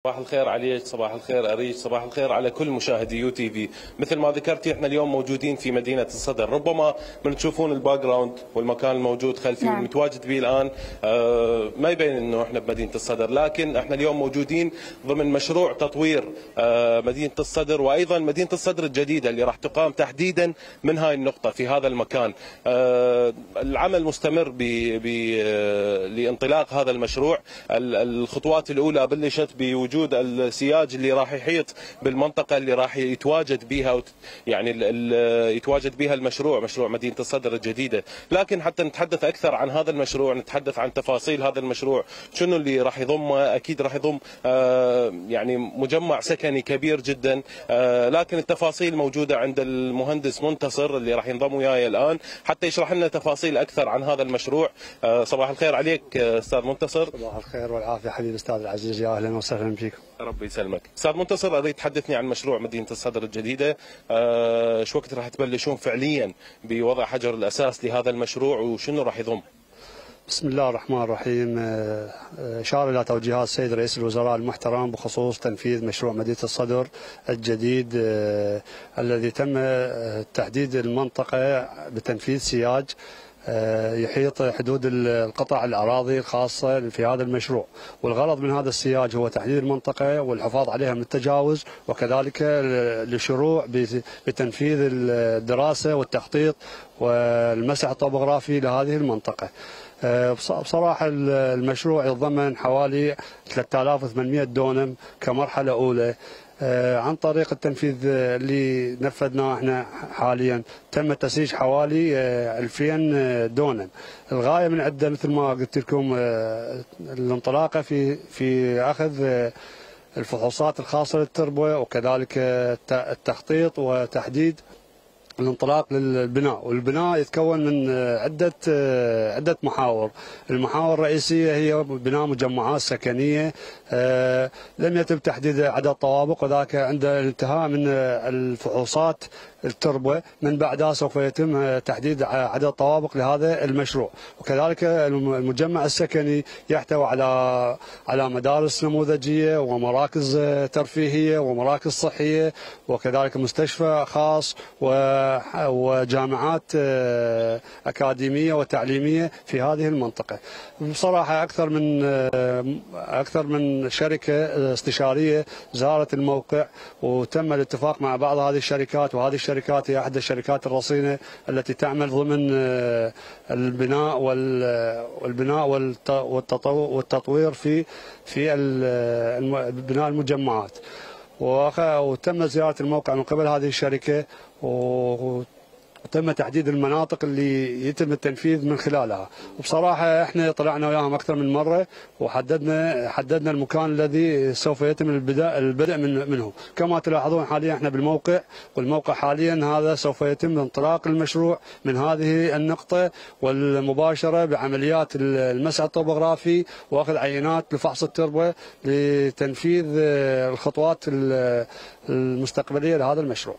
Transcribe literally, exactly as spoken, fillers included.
صباح الخير عليك، صباح الخير أريج، صباح الخير على كل مشاهدي يو تي في. مثل ما ذكرتي احنا اليوم موجودين في مدينة الصدر، ربما من تشوفون الباك جراوند والمكان الموجود خلفي نعم. والمتواجد به الآن آه ما يبين انه احنا بمدينة الصدر، لكن احنا اليوم موجودين ضمن مشروع تطوير آه مدينة الصدر، وايضا مدينة الصدر الجديدة اللي راح تقام تحديدا من هاي النقطة في هذا المكان. آه العمل مستمر ب آه لانطلاق هذا المشروع. الخطوات الأولى بلشت بوجود وجود السياج اللي راح يحيط بالمنطقه اللي راح يتواجد بها يعني يتواجد بها المشروع، مشروع مدينه الصدر الجديده. لكن حتى نتحدث اكثر عن هذا المشروع، نتحدث عن تفاصيل هذا المشروع، شنو اللي راح يضمه. اكيد راح يضم يعني مجمع سكني كبير جدا، لكن التفاصيل موجوده عند المهندس منتصر اللي راح ينضم وياي الان حتى يشرح لنا تفاصيل اكثر عن هذا المشروع. صباح الخير عليك استاذ منتصر. صباح الخير والعافيه حبيبي استاذ العزيز، يا اهلا وسهلا فيكم. ربي يسلمك. استاذ منتصر، اريد تحدثني عن مشروع مدينه الصدر الجديده، أه شو وقت راح تبلشون فعليا بوضع حجر الاساس لهذا المشروع وشنو راح يضم؟ بسم الله الرحمن الرحيم. اشار الى توجيهات السيد رئيس الوزراء المحترم بخصوص تنفيذ مشروع مدينه الصدر الجديد الذي تم تحديد المنطقه بتنفيذ سياج يحيط حدود القطع الأراضي الخاصة في هذا المشروع، والغرض من هذا السياج هو تحديد المنطقة والحفاظ عليها من التجاوز، وكذلك للشروع بتنفيذ الدراسة والتخطيط والمسح الطبوغرافي لهذه المنطقة. بصراحة المشروع يتضمن حوالي ثلاثة آلاف وثمانمئة دونم كمرحلة أولى. عن طريق التنفيذ اللي نفذناه احنا حاليا تم تسييج حوالي ألفين دونم. الغايه من عده مثل ما قلت لكم الانطلاقه في في اخذ الفحوصات الخاصه للتربه، وكذلك التخطيط وتحديد الانطلاق للبناء. والبناء يتكون من عدة عدة محاور. المحاور الرئيسية هي بناء مجمعات سكنية لم يتم تحديد عدد طوابق، وذاك عند الانتهاء من الفحوصات التربة من بعدها سوف يتم تحديد عدد طوابق لهذا المشروع. وكذلك المجمع السكني يحتوي على على مدارس نموذجية ومراكز ترفيهية ومراكز صحية، وكذلك مستشفى خاص وجامعات أكاديمية وتعليمية في هذه المنطقة. بصراحة أكثر من أكثر من شركة استشارية زارت الموقع، وتم الاتفاق مع بعض هذه الشركات، وهذه الشركات هي أحد الشركات الرصينة التي تعمل ضمن البناء والبناء والتطوير في في بناء المجمعات. وتم زيارة الموقع من قبل هذه الشركة، وتم تحديد المناطق اللي يتم التنفيذ من خلالها. وبصراحة احنا طلعنا وياهم أكثر من مرة وحددنا حددنا المكان الذي سوف يتم البدء البدء من منه. كما تلاحظون حاليا احنا بالموقع، والموقع حاليا هذا سوف يتم انطلاق المشروع من هذه النقطة، والمباشرة بعمليات المسح الطبوغرافي واخذ عينات لفحص التربة لتنفيذ الخطوات المستقبلية لهذا المشروع.